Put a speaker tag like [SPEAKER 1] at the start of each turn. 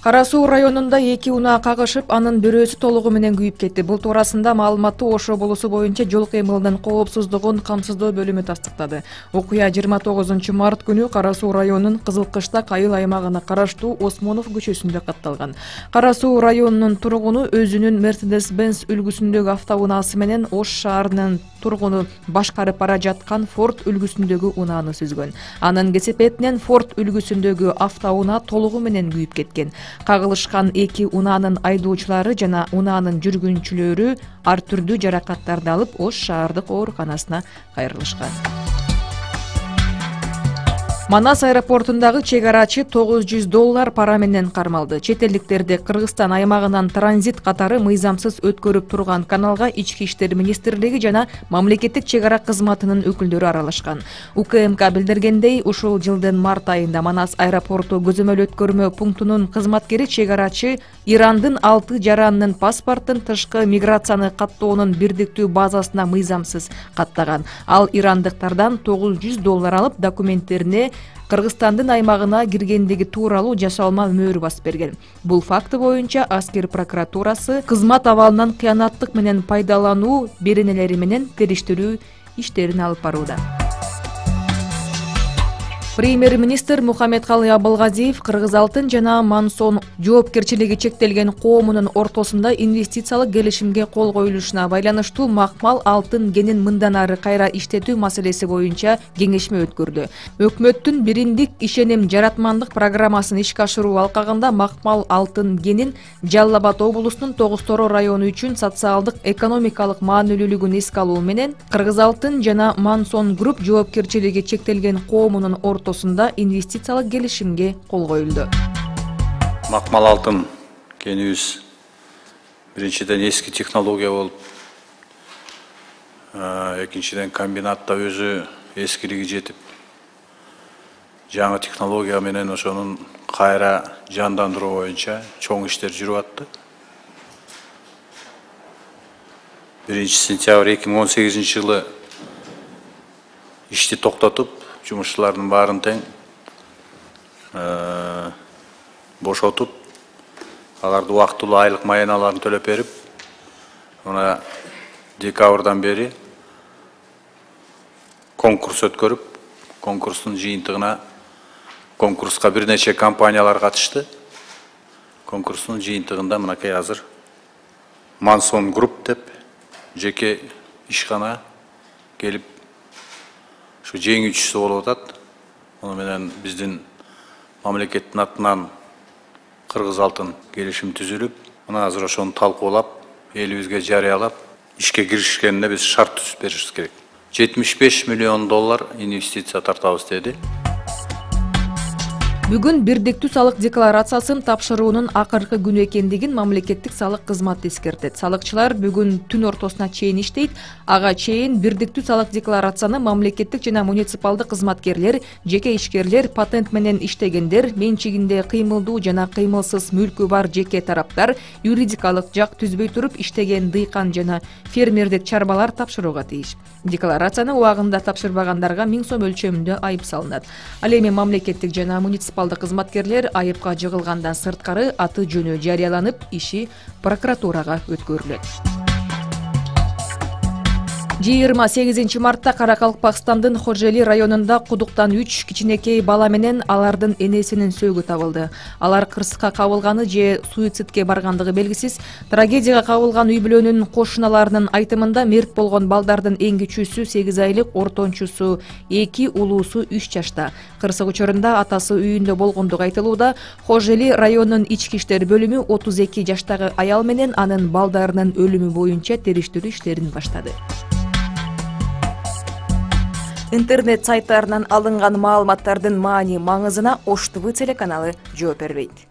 [SPEAKER 1] Кара Суу районунда 2 унаа кагышып, анын бирөөсү толугу менен күйүп кетти. Бул туурасында маалыматты Ошо болусу боюнча жол кыймылынын коопсуздугун камсыздоо бөлүмү тастыктады. Окуя 29 март күнү Кара Суу районунун Кызылкыштак айыл аймагына караштуу Осмонов көчөсүндө катталган. Кара Суу районунун тургуну өзүнүн Mercedes-Benz үлгүсүндөгү автоунаасы менен Ош шаарынын тургуну башкарып бара жаткан Ford үлгүсүндөгү унааны сүзгөн. Анын кесепетинен Ford үлгүсүндөгү автоунаа толугу менен күйүп кеткен. Кагылышкан 2 унаанын айдоочулары жана унаанын жүргүнчүлөрү ар түрдүү жаракаттарды алып Ош шаардык ооруканасына кайрылышкан. Манас аэропортундагы чек арачы $900 пара менен кармалды. Чет элдиктерди Кыргызстан аймагынан транзит катары мыйзамсыз өткөрүп турган каналга Ички иштер министрлиги жана мамлекеттик чек ара кызматынын өкүлдөрү аралашкан. УКМК билдиргендей, ушул жылдын март айында Манас аэропорту көзөмөл өткөрмө пунктунун кызматкери чек арачы Ирандын 6 жаранынын паспортун тышкы миграцияны каттоонун бирдиктүү базасына мыйзамсыз каттаган. Ал ирандыктардан $900 алып, документтерине Кыргызстандын аймагына киргендиги тууралуу жашалма мөөр басып берген. Бул факты боюнча аскер прокуратурасы кызмат абалынан кыянаттык менен пайдалануу беренелери менен териштирүү иштерин алып барууда. Премьер-министр Мухаммедкалый Абылгазиев Кыргыз алтын жана Мансон жоопкерчилиги чектелген коомунун ортосунда инвестициялык келишимге кол коюлушуна байланыштуу макмал алтын кенин мындан ары кайра иштетүү маселеси боюнча кеңешме өткөрдү. Өкмөттүн бириндик ишеним жаратмандык программасын ишке ашыруу алкагында макмал алтын кенин Жалал Абад облусунун Тогуз-Тороо району үчүн социалдык экономикалык маанилүүлүгүн эске алуу менен Кыргыз алтын жана Мансон Групп жоопкерчилиги чектелген коомунун ортосунда инвестициялык келишимге кол коюлду.
[SPEAKER 2] Макмал алтын кенибиз биринчиден эски технология болуп, экинчиден комбинатта өзү эскилиги жетип, жаңы технология менен ошонун кайра жандандыруу боюнча чоң иштер жүрүп атты. 1 сентябрь 2018 жылы ишти токтотуп, жумушчулардын баарын тең бошотуп, аларды убактылуу айлык маяналарын төлөп берип, мына декабрдан бери конкурс өткөрүп, конкурстун жыйынтыгына конкурска бир нече компаниялар катышты. Конкурстун жыйынтыгында мынакей азыр Мансон Групп деп жеке ишкана келип ушу жеңүүчүсү болуп атат. Муну менен биздин мамлекеттин атынан Кыргыз алтын келишим түзүлүп, мына азыр ошону талкуулап, элибизге жарыялап, ишке киришкенине биз шарт түзүп беришибиз керек. $75 миллион инвестиция тартабыз деди.
[SPEAKER 1] Бүгүн бирдиктүү салык декларациясын тапшыруунун акыркы күнү экендигин мамлекеттик салык кызматы эскертет. Салыкчылар бүгүн түн ортосуна чейин иштейт. Ага чейин бирдиктүү салык декларацияны мамлекеттик жана муниципалдык кызматкерлер, жеке ишкерлер, патент менен иштегендер, менчигинде кыймылдуу жана кыймылсыз мүлкү бар жеке тараптар, юридикалык жак түзбөй туруп иштеген дыйкан жана фермердик чарбалар тапшырууга тийиш. Декларацияны убагында тапшырбагандарга 1000 сом өлчөмүндө айып салынат. Ал эми мамлекеттик жана муниципалдык кызматкерлер айыпка жыгылгандан сырткары аты жөнү жарыяланып, иши прокуратурага өткөрүлөт. 28 мартта Каракалпакстандын Хожели районунда кудуктан 3 кичинекей бала менен алардын энесинин сөөгү табылды. Алар кырсыкка кабылганы же суицидке баргандыгы белгисиз. Трагедияга кабылган үй бүлөнүн кошуналарынын айтымында мерт болгон балдардын эң кичүүсү 8 айлык, ортончусу 2, улуусу 3 жашта. Кырсык учурунда атасы үйүндө болгондугу айтылууда. Хожели районунун ички иштер бөлүмү 32 жаштагы аял менен анын балдарынын өлүмү боюнча териштирүү иштерин баштады. Интернет сайттарынан алынган маалыматтардын маани маңызына Ош ТВ телеканалы жооп бербейт.